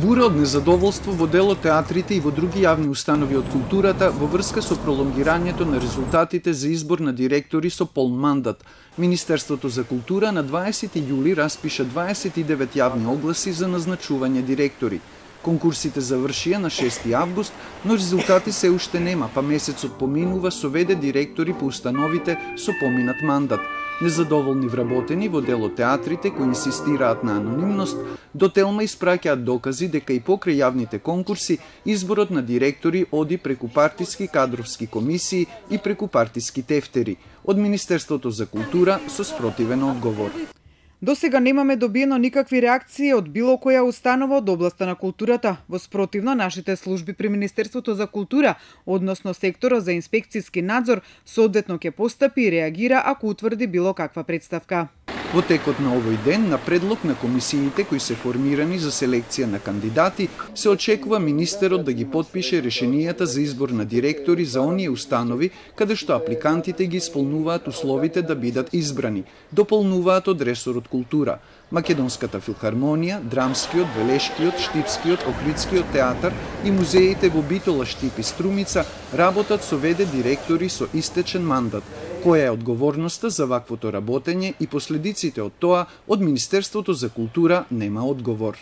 Бура од незадоволство во дел од театрите и во други јавни установи од културата во врска со пролонгирањето на резултатите за избор на директори со полн мандат. Министерството за култура на 20 јули распиша 29 јавни огласи за назначување директори. Конкурсите завршија на 6 август, но резултати се уште нема, па месецот поминува со веде директори по установите со поминат мандат. Незадоволни вработени во дел од театрите кои инсистираат на анонимност, до Телма испраќаат докази дека и покрај јавните конкурси изборот на директори оди преку партиски кадровски комисии и преку партиски тефтери. Од Министерството за култура со спротивен одговор. До сега немаме добиено никакви реакции од било која установа од областа на културата. Во спротивно, нашите служби при Министерството за култура, односно секторот за инспекцијски надзор, соодветно ќе постапи и реагира ако утврди било каква претставка. Во текот на овој ден, на предлог на комисиите кои се формирани за селекција на кандидати, се очекува министерот да ги потпише решенијата за избор на директори за оние установи каде што апликантите ги исполнуваат условите да бидат избрани, дополнуваат од ресорот култура. Македонската филхармонија, Драмскиот, Велешкиот, Штипскиот, Охридскиот театар и музеите во Битола, Штип и Струмица работат со веде директори со истечен мандат. Која е одговорноста за ваквото работење и последиците од тоа, од Министерството за култура нема одговор.